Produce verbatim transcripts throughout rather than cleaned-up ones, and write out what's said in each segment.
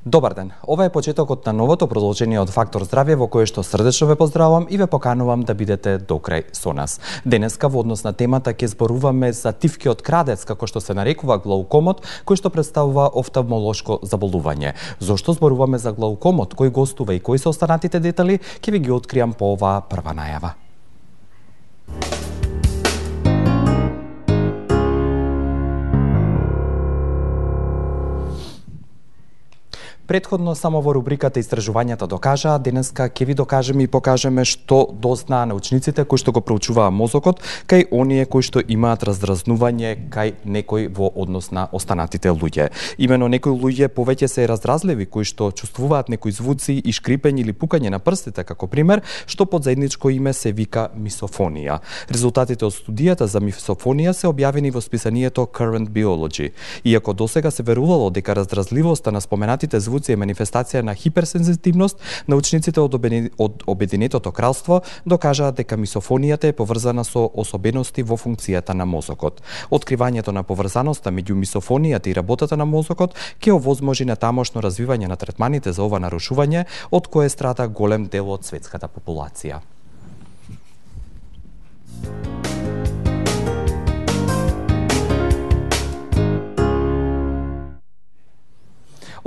Добар ден, ова е почетокот на новото продолжение од Фактор здравје во кое што срдечно ве поздравувам и ве поканувам да бидете до крај со нас. Денеска во однос на темата ќе зборуваме за тивкиот крадец, како што се нарекува глаукомот, кој што представува офталмолошко заболување. Зошто зборуваме за глаукомот, кој гостува и кои се останатите детали, ќе ви ги откриам по оваа прва најава. Претходно само во рубриката Истражувањата докажаа, денеска ќе ви докажеме и покажеме што дознаа научниците кои што го проучуваа мозокот кај оние кои што имаат раздразнување кај некој во однос на останатите луѓе. Имено некои луѓе повеќе се разразливи кои што чувствуваат некои звуци и шкрипење или пукање на прстите како пример, што под заедничко име се вика мисофонија. Резултатите од студијата за мисофонија се објавени во списанието Current Biology. Иако досега се верувало дека раздразливоста на споменатите звуци е манифестација на хиперсензитивност, научниците од, обедин... од Обединетото кралство докажаат дека мисофонијата е поврзана со особености во функцијата на мозокот. Откривањето на поврзаноста меѓу мисофонијата и работата на мозокот ќе овозможи натамошно развивање на третманите за ова нарушување, од кое страда голем дел од светската популација.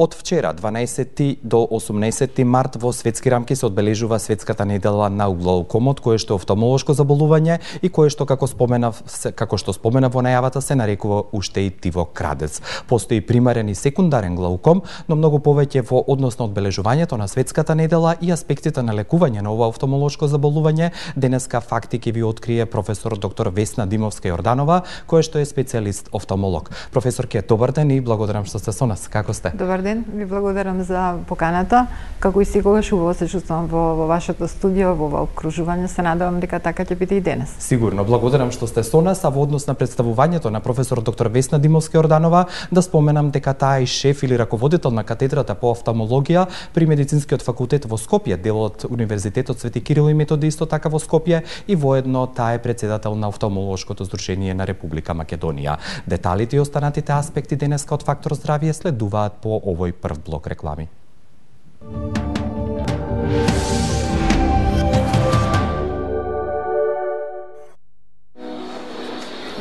Од вчера, дванаесети до осумнаесети март, во светски рамки се одбележува светската недела на глаукомот, кое што е офталмолошко заболување и кое што, како споменав, како што споменав во најавата, се нарекува уште и тивок крадец. Постои примарен и секундарен глауком, но многу повеќе во однос на одбележувањето на светската недела и аспектите на лекување на ова офталмолошко заболување, денеска факти ќе ви открие професор доктор Весна Димовска-Јорданова, која што е специјалист офталмолог. Професорке, добар ден и благодарам што сте со нас. Како сте? Добар ден, ви благодарам за поканата. Како и секогаш убаво се чувствувам во, во вашето студио, во ова окружување. Се надевам дека така ќе биде и денес. Сигурно, благодарам што сте со нас, а во однос на представувањето на професор доктор Весна Димовска-Јорданова, да споменам дека таа е шеф или раководител на катедрата по офталмологија при Медицинскиот факултет во Скопје, дел од Универзитетот Свети Кирил и Методи исто така во Скопје, и воедно таа е претседател на Офталмолошкото здружение на Република Македонија. Деталите и останатите аспекти денеска од Фактор здравје следуваат по овој прв блок реклами.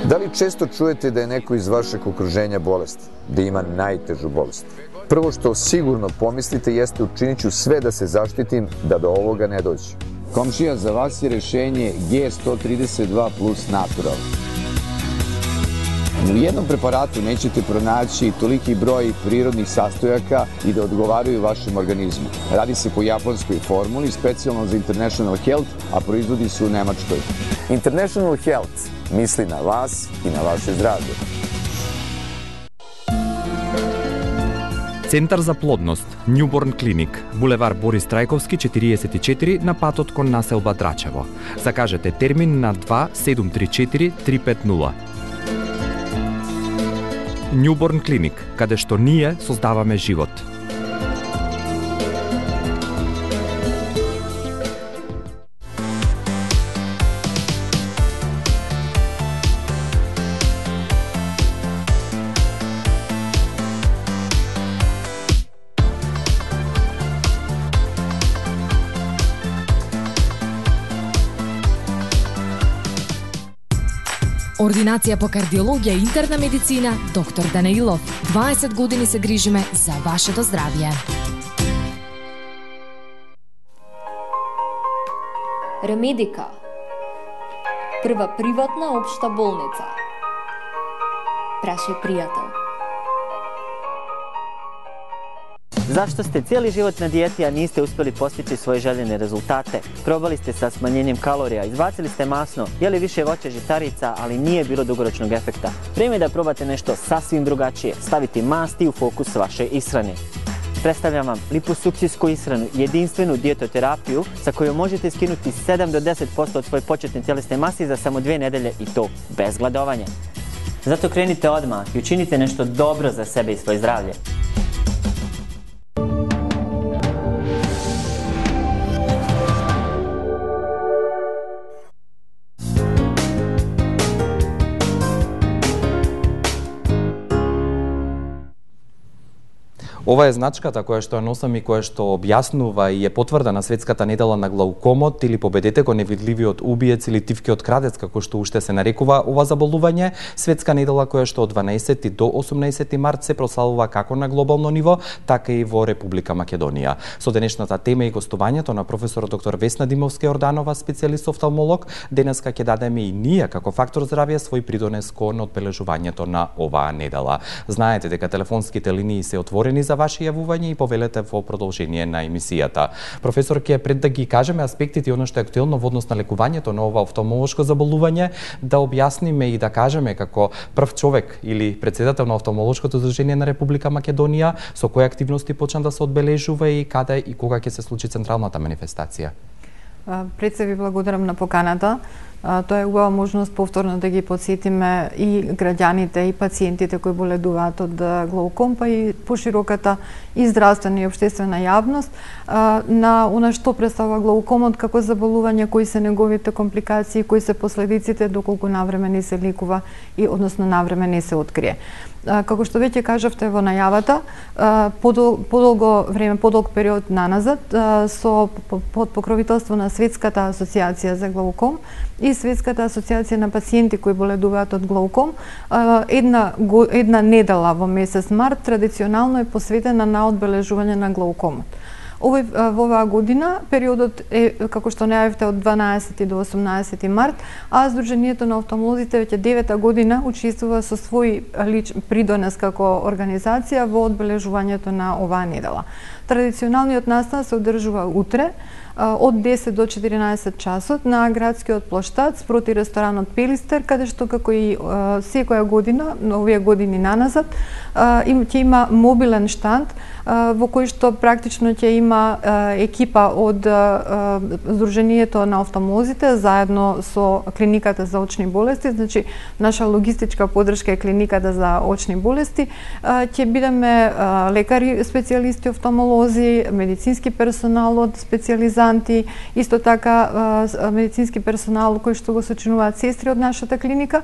Дали често чуете да е некој из вашeg окружења болест, да има најтежу болест? Прво што сигурно помислите јесте учиниću све да се заштитим да до овога не доđe. Комшија, за вас е решение Г сто тридесет два плюс Natural. U jednom preparatu nećete pronaći toliki broj prirodnih sastojaka i da odgovaraju vašem organizmu. Radi se po japanskoj formuli, specijalno za International Health, a proizvodi se u Nemačkoj. International Health misli na vas i na vaše zdravlje. Центар за плодност, Newborn Clinic, булевар Борис Трајковски четириесет и четири на патот кон населба Драчево. Закажете термин на два седум три четири три пет нула. Newborn Clinic, каде што ние создаваме живот. Ординација по кардиологија и интерна медицина, доктор Данаилов. дваесет години се грижиме за вашето здравје. Ремедика. Прва приватна општа болница. Прашај пријател. Zašto ste cijeli život na dijeti, a niste uspjeli postići svoje željene rezultate? Probali ste sa smanjenjem kalorija, izbacili ste masno, jeli više voća žitarica, ali nije bilo dugoročnog efekta. Vrijeme je da probate nešto sasvim drugačije, staviti masti u fokus vaše ishrane. Predstavljam vam liposukcijsku ishranu, jedinstvenu dijetoterapiju sa kojom možete skinuti sedam do deset posto od svoje početne tjelesne mase za samo dvije nedelje i to bez gladovanja. Zato krenite odmah i učinite nešto dobro za sebe i svoje zdravlje. Ова е значката која што ја носам и која што објаснува и е потврдена светската недела на глаукомот или победете го невидливиот убиец или тивкиот крадец, како што уште се нарекува ова заболување. Светска недела која што од дванаесети до осумнаесети март се прославува како на глобално ниво, така и во Република Македонија. Со денешната тема и гостувањето на професор доктор Весна Димовска-Јорданова, специјалист офталмолог, денеска ќе дадеме и ние како Фактор здравје свој придонес кон одбележувањето на оваа недела. Знаете дека телефонските линии се отворени за ваше јавување и повелете во продолжение на емисијата. Професор, ќе пред да ги кажеме аспектите и оно што е актуелно во однос на лекувањето на ова офталмолошко заболување, да објасниме и да кажеме како прв човек или председател на офталмолошкото здружение на Република Македонија, со кои активности почна да се одбележува и каде и кога ќе се случи централната манифестација. Пред се ви благодарам на поканата. Тоа е убава можност повторно да ги подсетиме и граѓаните и пациентите кои боледуваат од глауком, па и пошироката и здравствена и општествена јавност на она што представува глаукомот како заболување, кои се неговите компликации, кои се последиците доколку навреме не се лекува и односно навреме не се открие. Како што веќе кажавте во најавата, подол, подолго време, подолг период наназад, со под покровителство на Светската асоциација за глауком и Светската асоциација на пациенти кои боледуваат од глауком, една, една недела во месец март традиционално е посветена на одбележување на глаукомот. Овој, во оваа година периодот е, како што најавивте, од дванаесети до осумнаесети март, а Сдруженијето на офталмолозите веќе девета година учествува со свој лич придонес како организација во одбележувањето на оваа недела. Традиционалниот настан се одржува утре од десет до четиринаесет часот на градскиот плоштад спроти ресторанот Пелистер, каде што како и секоја година, овие години наназад, ќе има мобилен штанд во кој што практично ќе има екипа од Сдруженијето на офталмолозите заедно со клиниката за очни болести, значи наша логистичка поддршка е клиниката за очни болести. Ќе бидеме лекари, специјалисти, офталмолози, медицински персонал од специјализанти, исто така медицински персонал кој што го сочинуваат сестри од нашата клиника,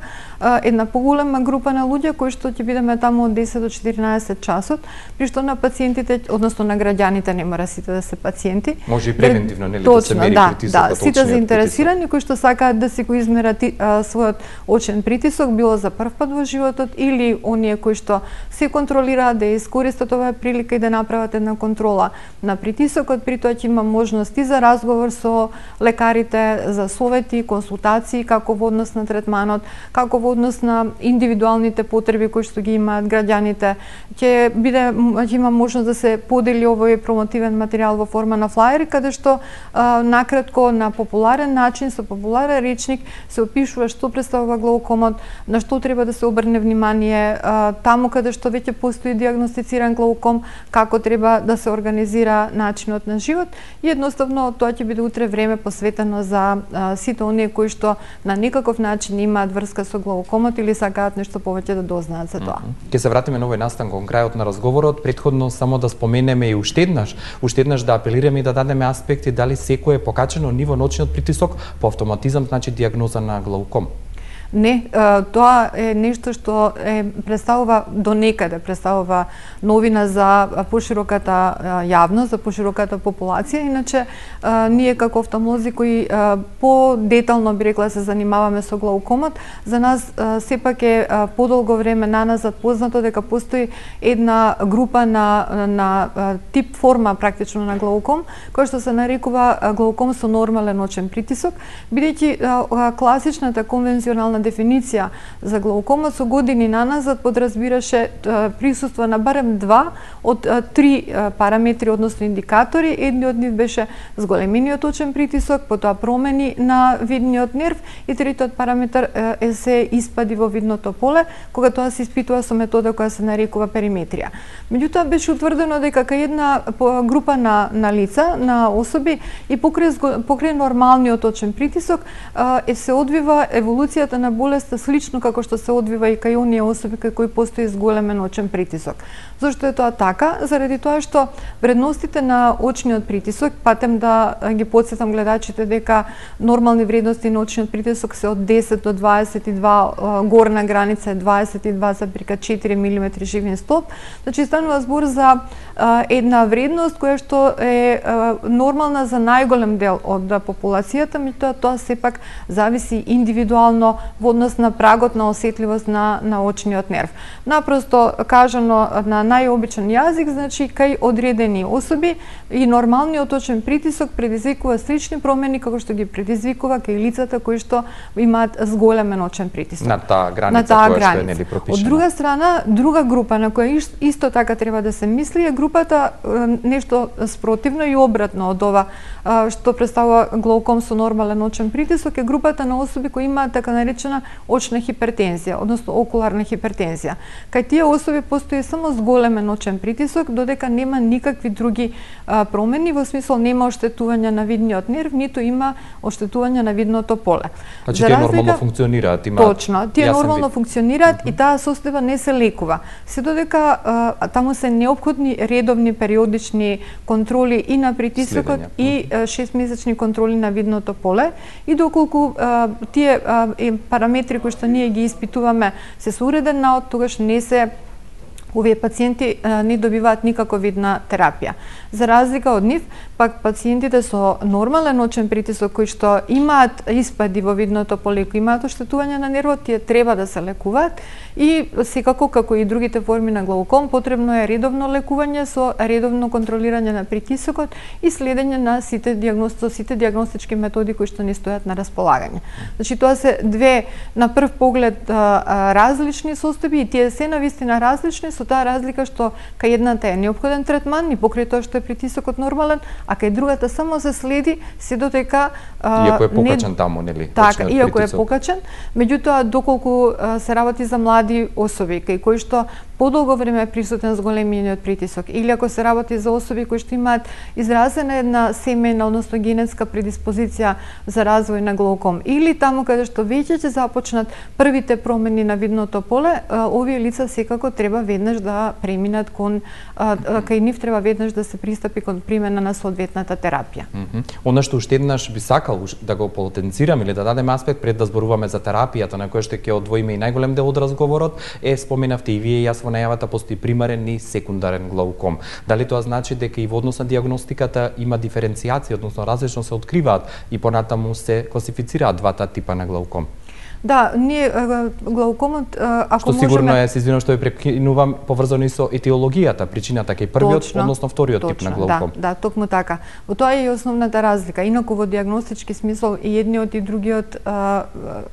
една поголема група на луѓе кои што ќе бидеме таму од десет до четиринаесет часот, при што на пациентите, односно на граѓаните, не мора сите да се пациенти. Може и превентивно, нели, точно, да се мери да, притисокот, да, сите заинтересирани кои што сакаат да си го измерат својот очен притисок, било за прв пат во животот или оние кои што се контролираат да искористат оваа прилика и да направат една контрола на притисокот, при тоа ќе има можности за разговор со лекарите, за совети, консултации, како во однос на третманот, како во однос на индивидуалните потреби кои што ги имаат граѓаните. Ќе биде, ќе има можност да се подели овој промотивен материјал во форма на флаери, каде што а, накратко, на популарен начин, со популарен речник се опишува што представува глаукомот, на што треба да се обрне внимание, а, таму каде што веќе постои диагностициран глауком, како треба да се организира начинот на живот и едноставно тоа ќе биде утре време посветено за а, сите оние кои што на некаков начин имаат врска со глаукомот или сакаат нешто повеќе да дознаат за тоа. Ќе се вратиме на овој настан кон крајот на разговорот, претходно само да споменеме и уште еднаш, уште еднаш да апелираме и да дадеме аспекти дали секој е покачено ниво на очниот притисок по автоматизам, значи диагноза на глауком. Не, тоа е нешто што е представува до некаде, представува новина за пошироката јавност, за пошироката популација. Иначе, ние како офталмолози кои по-детално би рекла се занимаваме со глаукомот, за нас сепак е подолго време наназад познато дека постои една група на, на тип форма практично на глауком, која што се нарекува глауком со нормален очен притисок, бидејќи класичната конвенционална дефиниција за глаукомот со години наназад подразбираше присуство на барем два од три параметри, односно индикатори. Едниот од нив беше зголемениот очен притисок, потоа промени на видниот нерв и третиот параметар е се испади во видното поле, кога тоа се испитува со метода која се нарекува периметрија. Меѓутоа беше утврдено дека кај една група на, на лица, на особи и покрај, покрај нормалниот очен притисок е се одвива еволуцијата на на болеста слично како што се одвива и кај оние особи кај кои постои зголемен очен притисок. Зошто е тоа така? Заради тоа што вредностите на очниот притисок, патем да ги потсетам гледачите дека нормални вредности на очниот притисок се од десет до дваесет и два, горна граница е дваесет и два запирка четири милиметри живин столб. Значи станува збор за една вредност која што е нормална за најголем дел од популацијата, меѓутоа тоа сепак зависи индивидуално во однос на прагот на осетливост на на очниот нерв. Напросто кажано на најобичен јазик, значи кај одредени особи и нормалниот очен притисок предизвикува слични промени како што ги предизвикува кај лицата кои што имаат зголемен очен притисок. На таа граница која што е нели пропишена. Од друга страна, друга група на која исто така треба да се мисли е групата нешто спротивно и обратно од ова што представува глауком со нормален очен притисок, е групата на особи кои имаат така наречена очна хипертензија, односно окуларна хипертензија. Кај тие особи постои само зголемен очен притисок, додека нема никакви други а, промени, во смисол нема оштетување на видниот нерв, ниту има оштетување на видното поле. Значи тие нормално функционираат, има. Точно, тие нормално функционираат mm -hmm. и таа состојба не се лекува. Се додека а, таму се неопходни редовни периодични контроли и на притисокот и шестмесечни контроли на видното поле, и доколку а, тие а, параметри кои што ние ги испитуваме се со уреден наод, тогаш не се овие пациенти а, не добиваат никако видна терапија. За разлика од нив, пак пациентите со нормален очен притисок кои што имаат испади во видното поле, кои имаат оштетување на нервот, тие треба да се лекуваат и секако како и другите форми на глауком потребно е редовно лекување со редовно контролирање на притисокот и следење на сите диагности, сите диагностички методи кои што ни стојат на располагање. Значи тоа се две на прв поглед а, а, различни состојби и тие се навистина различни, со таа разлика што кај едната е неопходен третман и покрај тоа што е притисокот нормален, а кај другата само се следи се додека а, иако е покачен не... таму, нели? Така, иако е покачен, меѓутоа доколку а, се работи за млади особи кај кои што подолго време е присутен зголемениот притисок, или ако се работи за особи кои што имаат изразена една семејна, односно генетска предиспозиција за развој на глауком, или таму каде што веќе ќе започнат првите промени на видното поле, а, овие лица секако треба веднаш да преминат кон а, кај нив треба веднаш да се пристапи кон примена на соодветната терапија. Mm -hmm. Она што уште еднаш би сакал да го потенцирам или да дадеме аспект пред да зборуваме за терапијата на која што ќе одвоиме и најголем дел од разговорот, е споменавте и вие и јас во најавата постои примарен и секундарен глауком. Дали тоа значи дека и во однос на диагностиката има диференцијација, односно различно се откриваат и понатаму се класифицираат двата типа на глауком? Да, ние глаукомот ако што сигурно можеме... е, се извинувам што ја прекинувам, поврзано и со етиологијата, причината кај првиот, точно, односно вториот точно, тип на глауком. Да, да, токму така. Во тоа е и основната разлика. Инаку во диагностички смисол и едниот и другиот, а,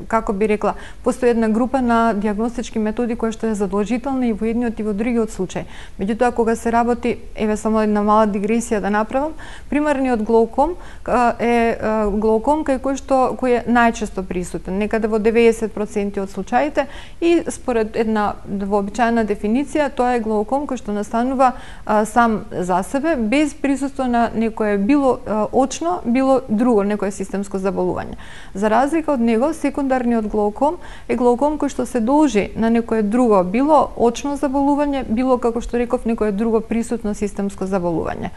како би рекла, постои една група на диагностички методи која што е задолжителна и во едниот и во другиот случај. Меѓутоа кога се работи, еве само една мала дигресија да направам, примерниот глауком а, е а, глауком кај кој што кој е најчесто присутен, некаде во деветдесет проценти од случаите, и според една вообичаена дефиниција тоа е глауком кој што настанува а, сам за себе без присуство на некое било а, очно, било друго некое системско заболување. За разлика од него, секундарниот глауком е глауком кој што се должи на некое друго, било очно заболување, било како што реков некое друго присутно системско заболување.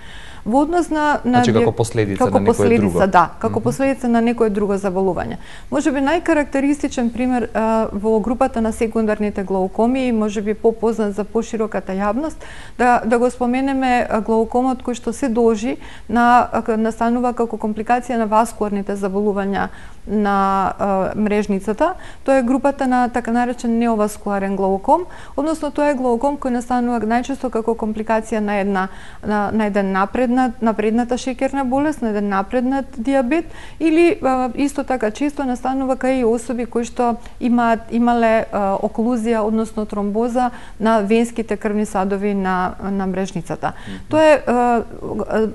Во однос на на значи како последица како на некое последица, друго. Да, како mm -hmm. последица на некое друго заболување. Можеби најкарактеристичен пример а, во групата на секундарните глаукоми, можеби попознат за пошироката јавност, да да го споменеме глаукомот кој што се должи на настанува како компликација на васкуларните заболувања на а, мрежницата. Тоа е групата на така наречен неоваскуларен глауком, односно тоа е глауком кој настанува најчесто како компликација на една на, на еден напреднат напредната шеќерна болест, на еден напреднат дијабет, или а, исто така често настанува кај особи кои што имаат имале а, оклузија, односно тромбоза на венските крвни садови на на мрежницата. Mm -hmm. Тоа е а,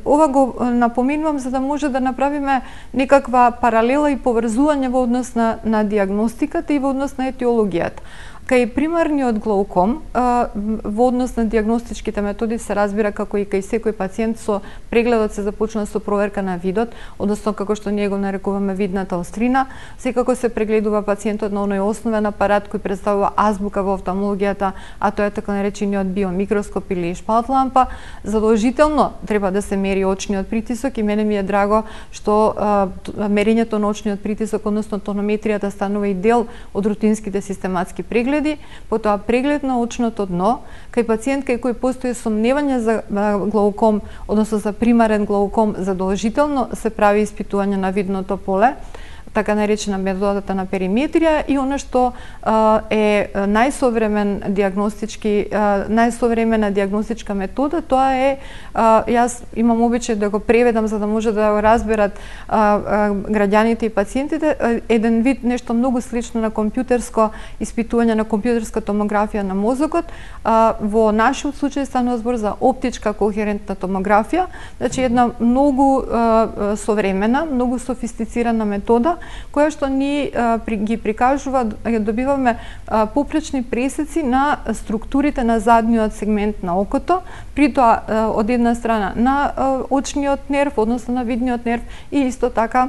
ова го напоминувам за да може да направиме некаква паралела и поврзување во однос на на дијагностиката и во однос на етиологијата. Кај примарниот глауком, во однос на диагностичките методи се разбира како и кај секој пациент со прегледот се започна со проверка на видот, односно како што ние го нарекуваме видната острина. Секако се прегледува пациентот на оној основен апарат кој представува азбука во офталмологијата, а тоа е така наречениот биомикроскоп или шпалт лампа. Задолжително треба да се мери очниот притисок и мене ми е драго што а, мерењето на очниот притисок, односно тонометријата, станува и дел од рутинските систематски прегледи. Потоа преглед на очното дно кај пациент кај кој постои сомневање за глауком, односно за примарен глауком, задолжително се прави испитување на видното поле, така наречена методата на периметрија, и она што а, е најсовремен диагностички а, најсовремена диагностичка метода, тоа е а, јас имам обичај да го преведам за да може да го разберат а, а, граѓаните и пациентите, а, еден вид нешто многу слично на компјутерско испитување, на компјутерска томографија на мозокот. А, во нашиот случај станува збор за оптичка кохерентна томографија, значи една многу а, современа, многу софистицирана метода која што ни а, при, ги прикажува, добиваме а, попречни пресеци на структурите на задниот сегмент на окото, при тоа а, од една страна на а, очниот нерв, односно на видниот нерв, и исто така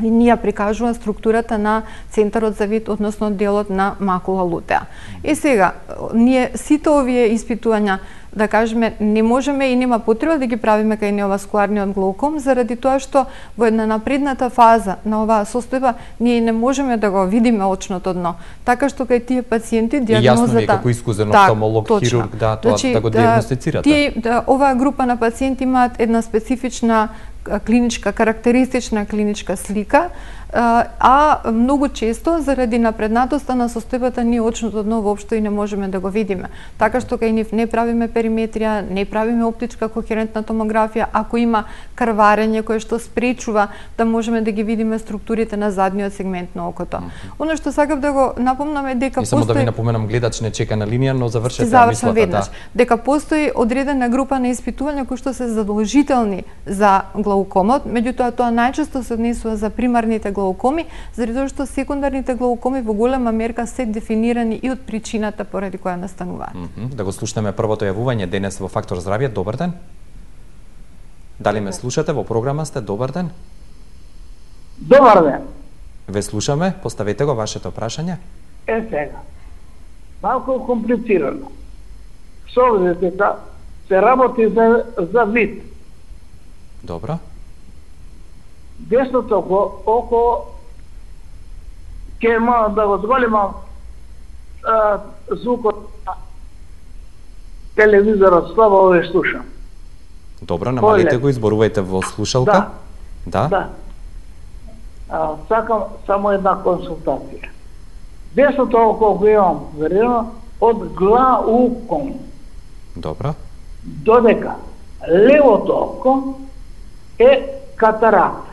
и ние прикажува структурата на центарот за вид, односно делот на макула лутеа. И сега, ние сите овие испитувања, да кажеме, не можеме и нема потреба да ги правиме кај неоваскуларниот глауком, заради тоа што во една напредната фаза на оваа состојба ние не можеме да го видиме очното дно. Така што кај тие пациенти диагнозата... И јасно ви е како искузен офталмолог, хирург, да, тоа значи, да го диагностицирате. Тие, да, оваа група на пациенти имаат една специфична клиничка, карактеристична клиничка слика, а многу често заради напреднатоста на состојбата ние очното дно воопшто и не можеме да го видиме. Така што кај нив не правиме периметрија, не правиме оптичка кохерентна томографија, ако има крварење кое што спречува да можеме да ги видиме структурите на задниот сегмент на окото. Mm -hmm. Оно што сакав да го напомнам е дека и само постои... да ви напоменам, гледач не чека на линија, но завршете мислата, веднаш, да. Дека постои одредена група на испитувања кои што се задолжителни за глаукомот, меѓутоа тоа најчесто се однесува за примарните глаукоми, заради тоа што секундарните глаукоми во голема мерка се дефинирани и од причината поради која настануваат. Mm -hmm. Да го слушнеме првото јавување денес во Фактор здравје. Добар ден. Дали ме слушате, во програма сте? Добар ден. Добар ден. Ве слушаме, поставете го вашето прашање. Е сега. Малку комплицирано. Со дека се работи за за вид. Добро. Десното око, око ќе мора да го зголемам звукот на телевизорот, слабо ве слушам. Добро, намалите го, изборувајте во слушалка. Да. Да. Да. А, сакам само една консултација. Десното око го имам верено од глауком. Добро. Додека левото око е катаракта.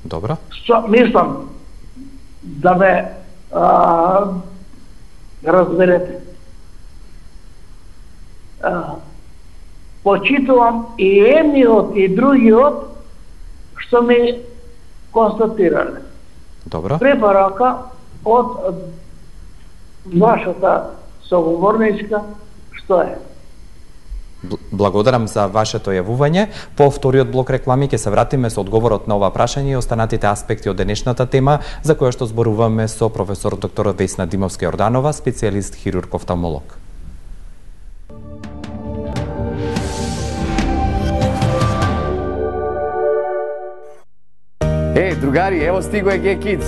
Добро. Со, мислам да ме а, разберете. А, почитувам и едниот и другиот што ми констатирале. Добро. Препорака од вашата соговорничка што е. Благодарам за вашето јавување. По вториот блок реклами ќе се вратиме со одговорот на ова прашање и останатите аспекти од денешната тема, за која што зборуваме со професор доктор Весна Димовска-Јорданова, специјалист хирург офталмолог. Е, другари, ево стиго е G-Kids.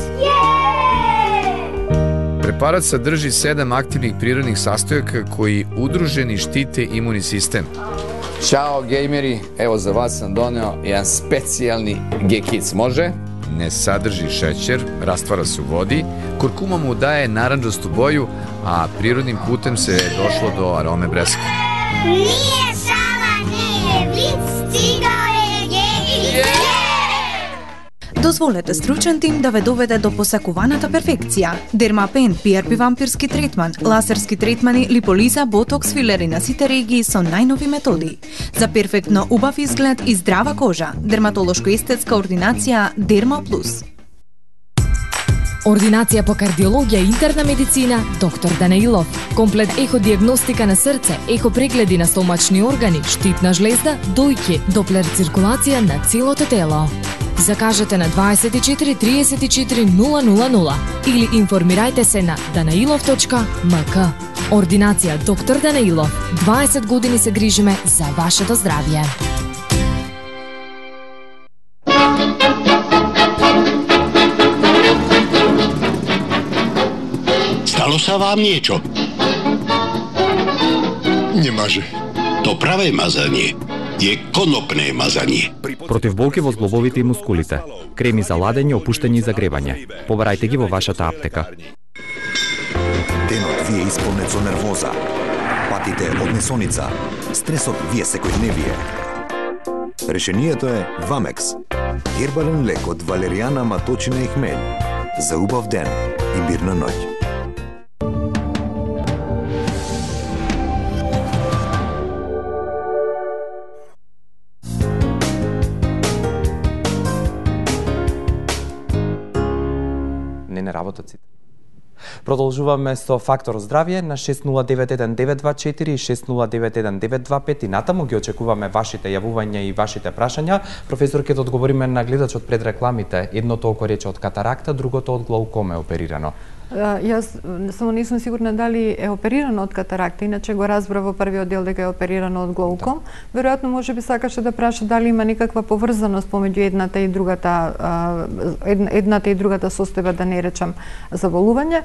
Препарат садржи седам активних природних састојака кои удружени штите имуни систем. Чао, геймери, ево за вас сам донео еден специјални G-Kids, може? Не садржи шеќер, раствара се у води, куркума му дае наранџасту боју, а природним путем се е дошло до ароме бреска. Nije šala, nije vic, stigao je G-Kids. Дозволете стручен тим да ве доведе до посакуваната перфекција. Дермапен, пи ар пи вампирски третман, лазерски третмани, липолиза, ботокс, филери на сите регии со најнови методи. За перфектно убав изглед и здрава кожа. Дерматолошко-естетска ординација Дерма Плюс. Ординација по кардиологија и интерна медицина доктор Данаилов. Комплет еходиагностика на срце, ехопрегледи на стомачни органи, штитна жлезда, дојки, доплер циркулација на целото тело. Закажете на дваесет и четири триесет и четири нула нула нула или информирајте се на данаилов точка ем ка. Ординација доктор Данаилов. дваесет години се грижиме за вашето здравје. Stalo sa vám niečo? Немаже. To pravé mazanie je konopné mazanie. Против болки во зглобовите и мускулите, креми за ладење, опуштање и загревање. Побарајте ги во вашата аптека. Денот ви е исполнет со нервоза, патите од несоница, стресот ви е секојдневие. Решението е Вамекс, гербален лек од валеријана, маточина и хмелј. За убав ден и мирна ноќ. Не не работат сите. Продолжуваме со Фактор здравје на шест нула девет еден девет два четири и шест нула девет еден девет два пет и натаму ги очекуваме вашите јавувања и вашите прашања. Професор, ќе одговориме на гледачот пред рекламите. Едното око рече од катаракта, другото од глаукома е оперирано. Јас само не сум сигурна дали е оперирано од катаракта, иначе го разбрав во првиот дел дека е оперирано од глауком. Да. Веројатно може би сакаше да праша дали има некаква поврзаност помеѓу едната и другата едната и другата состојба, да не речам заболување.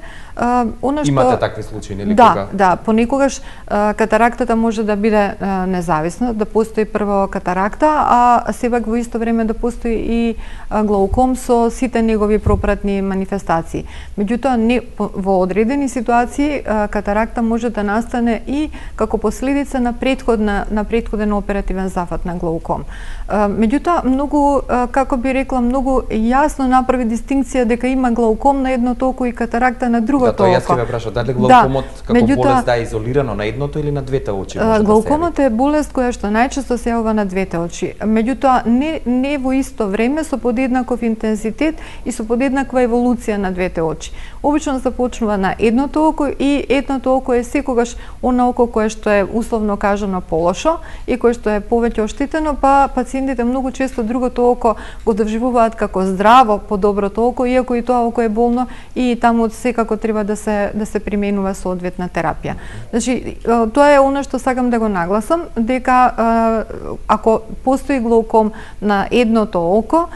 Она што имате такви случаи, нели? Да, кога? да, понекогаш катарактата може да биде независна, да постои прво катаракта, а сепак во исто време да постои и глауком со сите негови пропратни манифестации. Меѓутоа не во одредени ситуации катаракта може да настане и како последица на претходна на претходен оперативен зафат на глауком. Меѓутоа многу, како би рекла, многу јасно направи дистинкција дека има глауком на едното око и катаракта на другото око. Да, тоа јас ќе ве прашам, дали глаукомот да, како меѓутоа, болест да е изолирано на едното или на двете очи може да се глаукомот е болест која што најчесто се јавува на двете очи. Меѓутоа не не во исто време со подеднаков интензитет и со подеднаква еволуција на двете очи. Обично започнува на едното око и едното око е секогаш она око кое што е условно кажано полошо и кое што е повеќе оштетено, па пациентите многу често другото око го доживуваат како здраво по доброто око, иако и тоа око е болно и таму секако треба да се да се применува соодветна терапија. Значи тоа е она што сакам да го нагласам, дека ако постои глауком на едното око,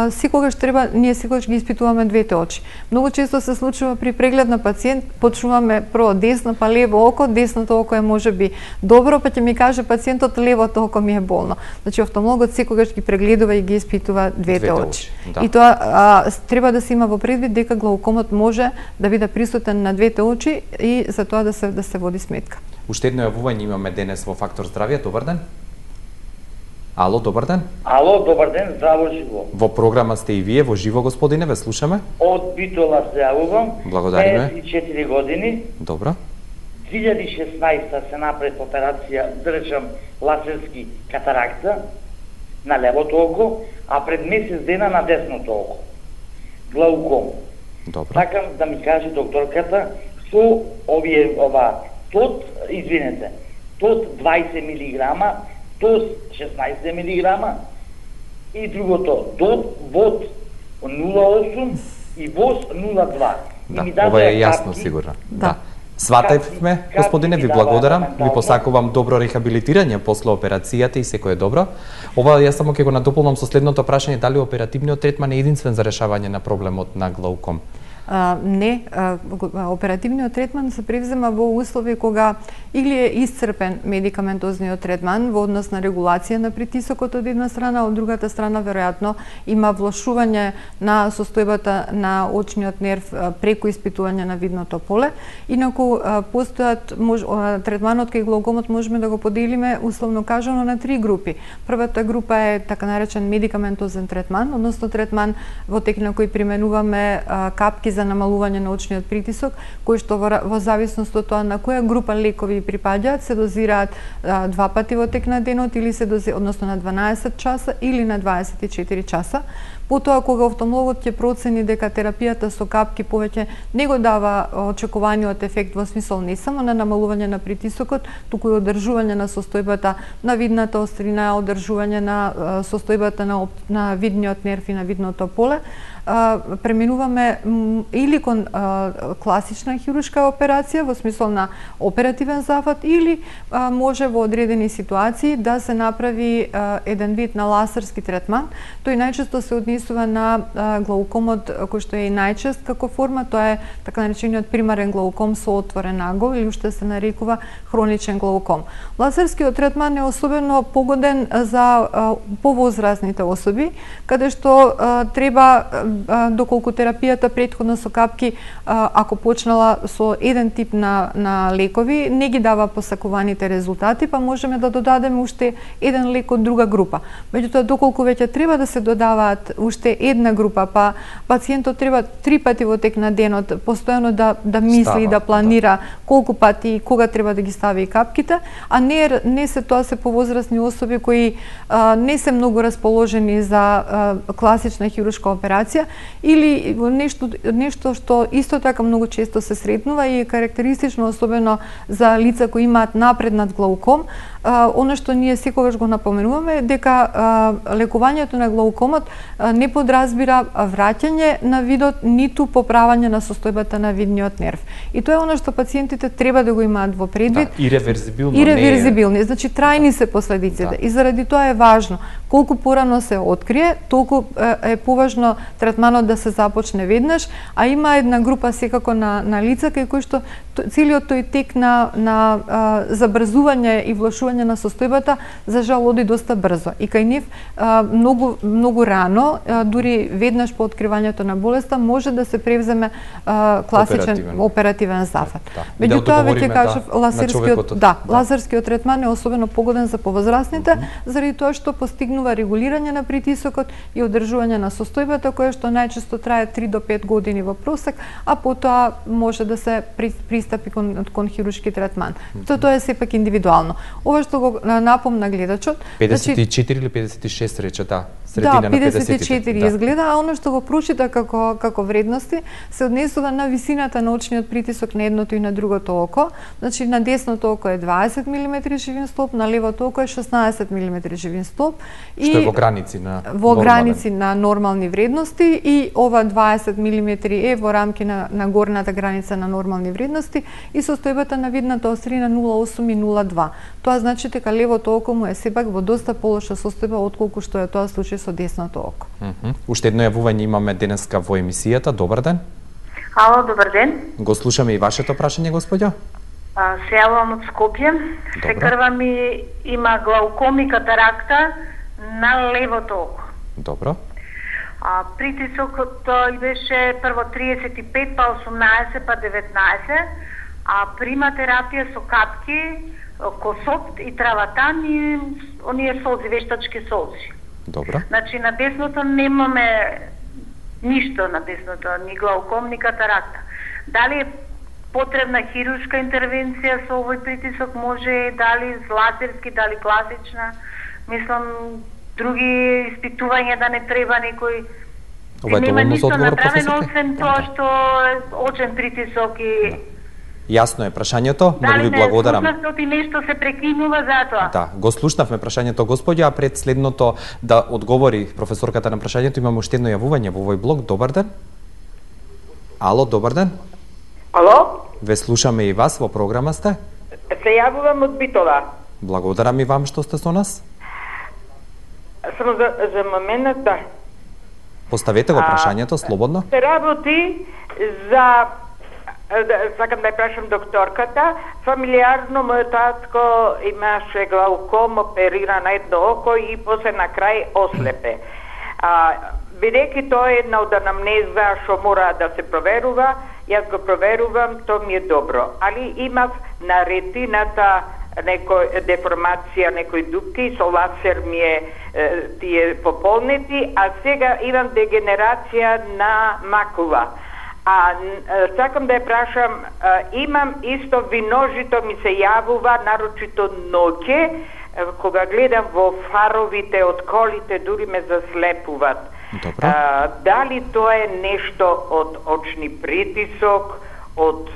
секогаш треба, ние секогаш ги испитуваме двете очи. Многу често се случува при преглед на пациент, почнуваме прво десно па лево око, десното око е можеби добро, па ќе ми каже пациентот левото око ми е болно. Значи офталмологот секогаш ги прегледува и ги испитува двете, двете очи. очи. Да. И тоа а, треба да се има во предвид дека глаукомот може да биде присутен на двете очи и за тоа да се да се води сметка. Уште едно јавување имаме денес во Фактор здравје. Добар ден. Ало, добар ден. Ало, добар ден, здраво живо. Во програма сте и вие, во живо, господине, ве слушаме. Од Битола се јавувам. Благодариме. петдесет и четири години. Добро. две илјади и шеснаесета се направи операција, да речам, лазерски катаракта на левото око, а пред месец дена на десното око. Глауком. Добро. Сакам да ми каже докторката со овие ова тот, извинете, тот дваесет милиграма, тос шеснаесет милиграма и другото дот вод нула осум и воз нула два. Да, ова е јасно капки, сигурно. Да. Сватевме, господине, ви благодарам, ви посакувам добро рехабилитирање после операцијата и секој е добро. Ова јас само ќе го надополнам со следното прашање, дали оперативниот третман е единствен за решавање на проблемот на глауком? А, не, а, оперативниот третман се превзема во услови кога или е исцрпен медикаментозниот третман во однос на регулација на притисокот од една страна, од другата страна веројатно има влошување на состојбата на очниот нерв преку испитување на видното поле. Инаку постојат мож, третманот кај глаукомот можеме да го поделиме условно кажано на три групи. Првата група е така наречен медикаментозен третман, односно третман во тек на кој применуваме капки за намалување на очниот притисок, кои што во, во зависност од тоа на која група лекови припаѓаат, се дозираат а, два пати во тек на денот или се дози, односно на дванаесет часа или на дваесет и четири часа. Потоа, кога офталмологот ќе процени дека терапијата со капки повеќе не го дава очекуваниот ефект во смисол не само на намалување на притисокот, туку и одржување на состојбата на видната острина, одржување на состојбата на, на видниот нерв и на видното поле, преминуваме или кон а, класична хируршка операција во смисол на оперативен зафат или а, може во одредени ситуации да се направи а, еден вид на лазерски третман. Тој најчесто се однесува на а, глаукомот кој што е и најчест како форма, тоа е така наречениот примарен глауком со отворен агол или уште се нарекува хроничен глауком. Лазерскиот третман е особено погоден за а, повозрастните особи, каде што а, треба доколку терапијата претходно со капки, ако почнала со еден тип на, на лекови, не ги дава посакуваните резултати, па можеме да додадеме уште еден лек од друга група. Меѓутоа, доколку веќе треба да се додаваат уште една група, па пациентот треба три пати во тек на денот постојано да, да мисли Става, и да планира да. колку пати и кога треба да ги стави капките, а не, не се тоа се повозрастни особи кои а, не се многу расположени за а, класична хируршка операција, или нешто, нешто што исто така многу често се сретнува и е карактеристично особено за лица кои имаат напреднат глауком. А, оно што ние секогаш го напоменуваме дека а, лекувањето на глаукомот а, не подразбира враќање на видот, ниту поправање на состојбата на видниот нерв. И тоа е оно што пациентите треба да го имаат во предвид. Да, иреверзибилно. Иреверзибилни, значи трајни се последиците. Да. И заради тоа е важно, колку порано се открие, толку е поважно третманот да се започне веднаш, а има една група секако на, на лица кај кои што целиот тој тек на, на а, забрзување и влошување на состојбата за жал оди доста брзо. И кај нив а, многу, многу рано, а, дури веднаш по откривањето на болеста, може да се превземе а, класичен оперативен, оперативен зафат. Да. Меѓутоа, да веќе кажав, да, лазерскиот, да, да. лазерскиот третман е особено погоден за повозрастните, mm -hmm. заради тоа што постигнува регулирање на притисокот и одржување на состојбата, која што најчесто трае три до пет години во просек, а потоа може да се пристапи кон, кон хируршки третман. Mm -hmm. Тоа е сепак индивидуално. Ова што го напомна гледачот, педесет и четири или педесет и шест рече, да. Средина да, педесет и четири да. изгледа, а оно што го прочита како како вредности се однесува на висината на очниот притисок на едното и на другото око. Значи на десното око е дваесет милиметри живин столб, на левото око е шеснаесет милиметри живин столб и што е во граници на во нормален. граници на нормални вредности и ова дваесет милиметри е во рамки на на горната граница на нормални вредности и состојбата на видната острина нула целу осум и нула целу два. Тоа значи дека левото око му е сепак во доста полоша состојба отколку што е тоа случај со десното око. Mm -hmm. Уште едно јавување имаме денеска во емисијата. Добар ден. Ало, добар ден. Го слушаме и вашето прашање, господјо. А, се јавувам од Скопје. Се крва ми има глауком и катаракта на левото око. Добро. А, притисокот беше прво триесет и пет, па осумнаесет, па деветнаесет, а прима терапија со капки, косопт и траватан и оние солзи, вештачки солзи. Добро. Значи на десното немаме ништо на десното, ни глауком, ни катаракта. Дали е потребна хируршка интервенција со овој притисок, може дали лазерски, дали класична, мислам други испитувања да не треба некој. Ова е нема доволно за ништо одговор, направено професорке? освен тоа што очен притисок и Јасно е прашањето, многу ви благодарам. Дали не слушнавте нешто се прекинува затоа? Да, го слушнавме прашањето, господја, а пред следното да одговори професорката на прашањето, имаме уште едно јавување во овој блок. Добар ден. Ало, добар ден. Ало? Ве слушаме и вас, во програма сте. Се јавувам од Битола. Благодарам и вам што сте со нас. Само за, за момент, да. Поставете го прашањето, слободно. Се работи за... Да, сакам да ја прашам докторката. Фамилиарно мојот татко имаше глауком, оперира на едно око и после на крај ослепе. А, бидејќи тоа е една од анамнеза што мора да се проверува, јас го проверувам, тоа ми е добро. Али имав на ретината некој деформација, некои дупки, со лазер ми е, е тие пополнети, а сега имам дегенерација на макула. А сакам да ја прашам, имам исто виножито ми се јавува, нарочито ноќе, кога гледам во фаровите од колите, дури ме заслепуваат. Добро. А, дали тоа е нешто од очни притисок, од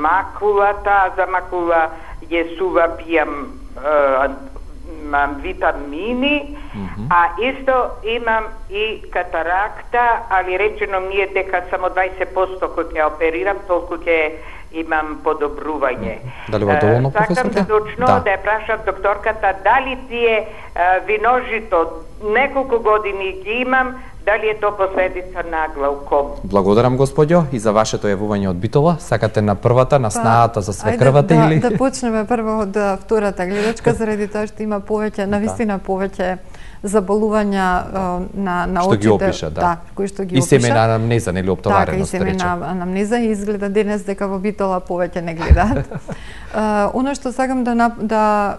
макулата, за макула јесува пијам а, витамини, mm-hmm. а исто имам и катаракта, али речено ми е дека само дваесет проценти кој ќе оперирам, толку ќе имам подобрување. Дали во доволно, професорка? Сакам точно да. да ја прашам докторката, дали тие а, виножито неколку години ги имам, дали е тоа последица на глауком? Благодарам, господјо, и за вашето јавување од Битола. Сакате на првата, на снаата за свекрвата да, или? Да, да почнеме прво од втората гледачка, заради тоа што има повеќе, навистина повеќе заболувања на на што очите, ги опиша, да. да, кои што ги и опиша. И семена анамнеза, нели оптовареност, така, и семена анамнеза, и изгледа денес дека во Битола повеќе не гледаат. Uh, оно што сакам да да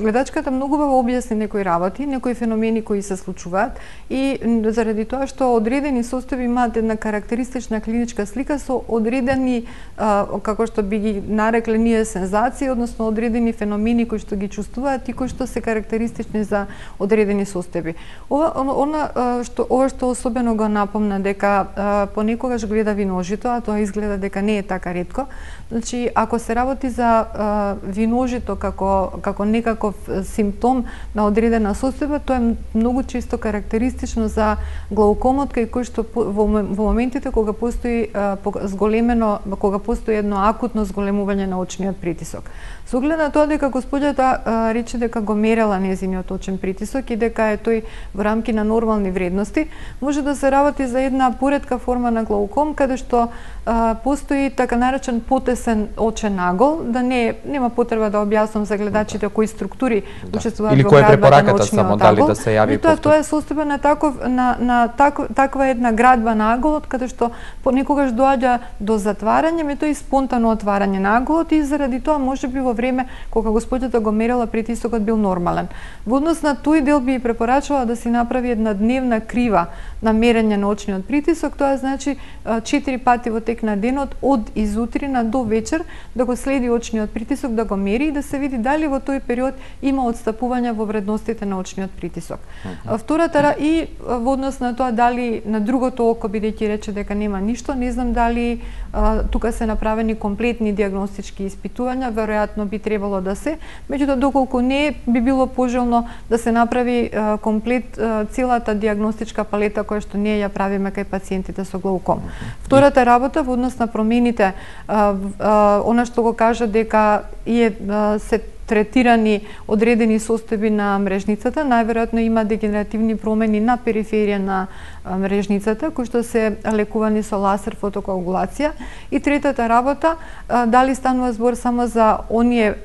гледачката многу во објасни некои работи, некои феномени кои се случуваат, и заради тоа што одредени состојби имаат една карактеристична клиничка слика со одредени uh, како што би ги нарекле ние сензации, односно одредени феномени кои што ги чувствуваат и кои што се карактеристични за одредени состојби. Ова она што ова што особено го напомна дека uh, понекогаш гледа виножито, а тоа изгледа дека не е така ретко. Значи, ако се работи за а, виножито како како некаков симптом на одредена состојба, тоа е многу често карактеристично за глаукомот, кај кој што во, во моментите кога постои а, зголемено, кога постои едно акутно зголемување на очниот притисок. Со оглед на тоа дека господјата а, рече дека го мерела нејзиниот очен притисок и дека е тој во рамки на нормални вредности, може да се работи за една поретка форма на глауком, каде што а, постои така наречен потесен очен нагол, да не нема потреба да објаснам за гледачите кои структури да. учествуваат или во која градбата на препораката очниот само нагол. Дали да се јави тоа тоа е состојба на таков на на так, таква една градба на аголот, каде што понекогаш доаѓа до затварање, меѓутоа и спонтано отварање на аголот, и заради тоа можеби во време кога господјата го мерела притисокот бил нормален. Во однос на тој дел би препорачувала да си направи една дневна крива на мерење на очниот притисок, тоа значи четири пати во тек на денот од изутрина до вечер да го следи очниот притисок, да го мери и да се види дали во тој период има отстапување во вредностите на очниот притисок. Uh-huh. Втората и во однос на тоа дали на другото око, бидејќи рече дека нема ништо, не знам дали а, тука се направени комплетни диагностички испитувања, веројатно би требало да се, меѓутоа доколку не, би било пожелно да се направи а, комплет а, целата диагностичка палета која што ние ја правиме кај пациентите со глауком. Uh-huh. Втората работа во однос на промените, а, а, она што го кажа дека е а, се третирани одредени состојби на мрежницата, најверојатно има дегенеративни промени на периферија на мрежницата, кои што се лекувани со лазер фотокоагулација. И третата работа, дали станува збор само за оние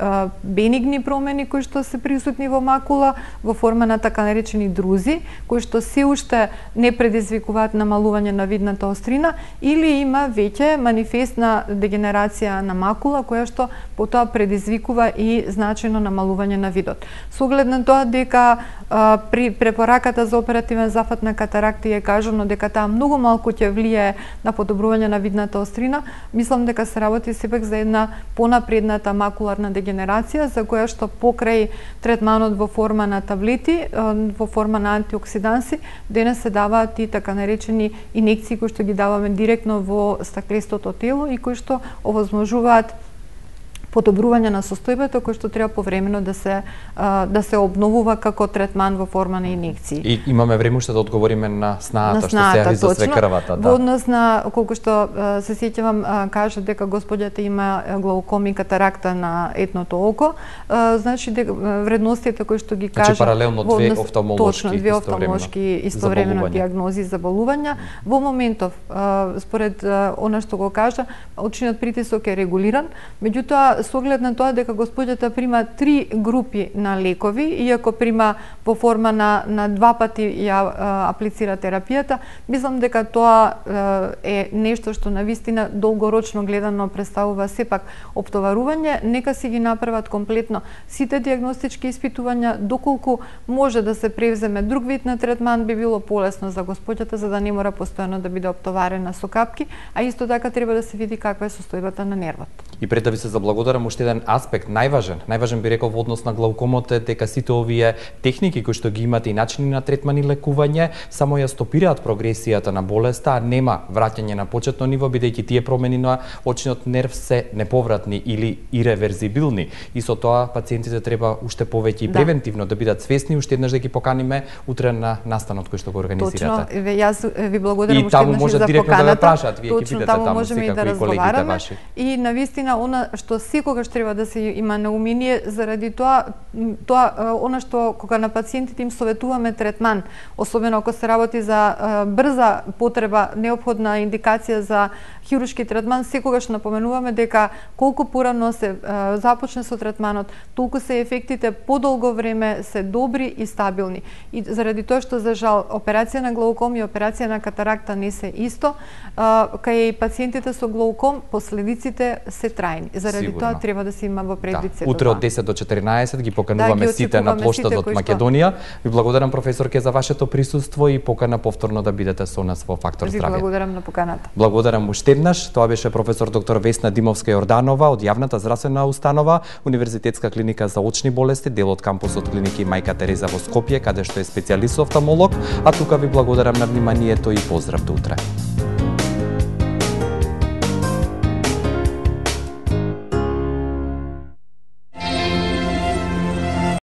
бенигни промени кои што се присутни во макула во форма на така наречени друзи, кои што се уште не предизвикуваат намалување на видната острина, или има веќе манифестна дегенерација на макула која што потоа предизвикува и значајно намалување на видот. Со оглед на тоа дека а, при препораката за оперативен зафат на катаракти е кажано дека таа многу малку ќе влијае на подобрување на видната острина, мислам дека се работи сепак за една понапредната макуларна дегенерација, за која што покрај третманот во форма на таблети, во форма на антиоксиданси, денес се даваат и така наречени инекции кои што ги даваме директно во стаклестото тело и кои што овозможуваат подобрување на состојбата кој што треба повремено да се да се обновува како третман во форма на инекции. И имаме време уште да одговориме на снаата, што се јави за свекрвата, да. Во однос на колку што се сеќавам кажа дека господјата има глауком и катаракта на етното око, значи дека вредностите кои што ги кажа, значи паралелно две офталмолошки, точно две офталмолошки истовремено диагнози заболувања. Во моментов според она што го кажа, очниот притисок е регулиран, меѓутоа со оглед на тоа дека госпоѓата прима три групи на лекови, иако прима во форма на, на два пати ја а, аплицира терапијата, мислам дека тоа а, е нешто што навистина долгорочно гледано представува сепак оптоварување. Нека си ги направат комплетно сите диагностички испитувања, доколку може да се превземе друг вид на третман, би било полесно за госпоѓата, за да не мора постојано да биде оптоварена со капки, а исто така треба да се види каква е состојбата на нервот. И пред да ви се заблагодарам, уште еден аспект, најважен, најважен би рекол во однос на глаукомот е дека сите овие техники кои што ги имате и начини на третман и лекување само ја стопираат прогресијата на болеста, а нема враќање на почетно ниво, бидејќи тие промени на очниот нерв се неповратни или иреверзибилни. И со тоа пациентите треба уште повеќе и превентивно да, да бидат свесни, уште еднаш да ги поканиме утре на настанот кој што го организирате. Точно, јас ви благодарам уште еднаш за поканата. И таму може директно да ве прашаат, вие екипите таму, таму можеме и да разговараме. И навистина она што секогаш треба да се има на умение, заради тоа тоа она што кога на пациентите им советуваме третман, особено ако се работи за брза потреба, неопходна индикација за хируршки третман, секогаш напоменуваме дека колку порано се започне со третманот, толку се ефектите подолго време се добри и стабилни. И заради тоа што за жал операција на глауком и операција на катаракта не се исто, кај пациентите со глауком последиците се трајни. Заради Сигурно. Тоа треба да се има во предвид да. сето Утре од десет до четиринаесет ги покануваме да, ги сите на плоштадот Македонија. Ви благодарам, професорке, за вашето присуство и покана повторно да бидете со нас во Фактор здравје. Ви благодарам на поканата. Благодарам уште еднаш. Тоа беше професор доктор Весна Димовска-Јорданова од јавната здравствена установа Универзитетска клиника за очни болести, дел од кампусот клиники Мајка Тереза во Скопје, каде што е специјалист офталмолог, а тука ви благодарам на вниманието и поздрав до утре.